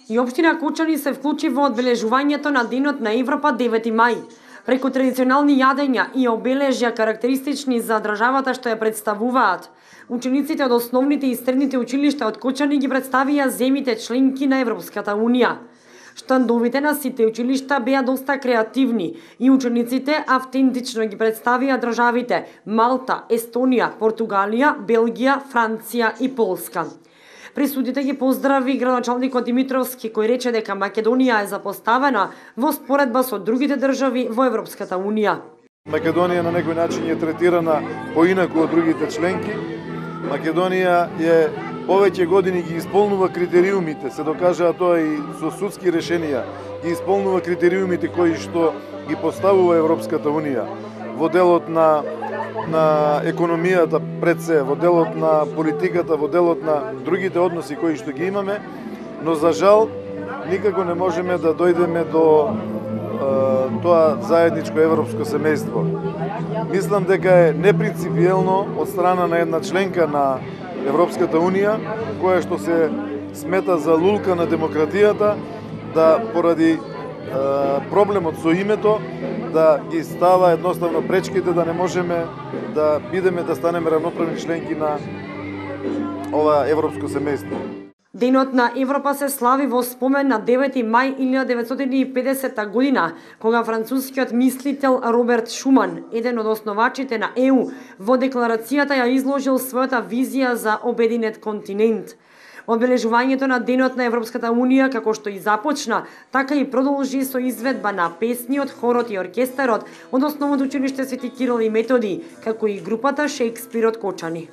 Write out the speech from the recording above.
И општина Кочани се вклучи во одбележувањето на Денот на Европа 9 мај. Преку традиционални јадења и обележја карактеристични за државата што ја представуваат, учениците од основните и средните училишта од Кочани ги представија земите членки на Европската Унија. Штандовите на сите училишта беа доста креативни и учениците автентично ги представија државите Малта, Естонија, Португалија, Белгија, Франција и Полска. Присутите ги поздрави градоначалникот Димитровски, кој рече дека Македонија е запоставена во споредба со другите држави во Европската Унија. Македонија на некој начин е третирана поинаку од другите членки. Македонија е повеќе години ги исполнува критериумите, се докажаа тоа и со судски решенија, ги исполнува критериумите кои што ги поставува Европската Унија во делот на економијата пред се, во делот на политиката, во делот на другите односи кои што ги имаме, но за жал никако не можеме да дојдеме до тоа заедничко европско семејство. Мислам дека е непринципиелно од страна на една членка на Европската Унија, која што се смета за лулка на демократијата, да поради проблемот со името, да ги става едноставно пречките да не можеме да бидеме да станеме равноправни членки на ова европско семејство. Денот на Европа се слави во спомен на 9 мај 1950 година, кога францускиот мислител Роберт Шуман, еден од основачите на ЕУ, во декларацијата ја изложил својата визија за обединет континент. Одбележувањето на Денот на Европската Унија, како што и започна, така и продолжи со изведба на песни од хорот и оркестарот од Основното училиште Свети Кирил и Методи, како и групата Шекспир од Кочани.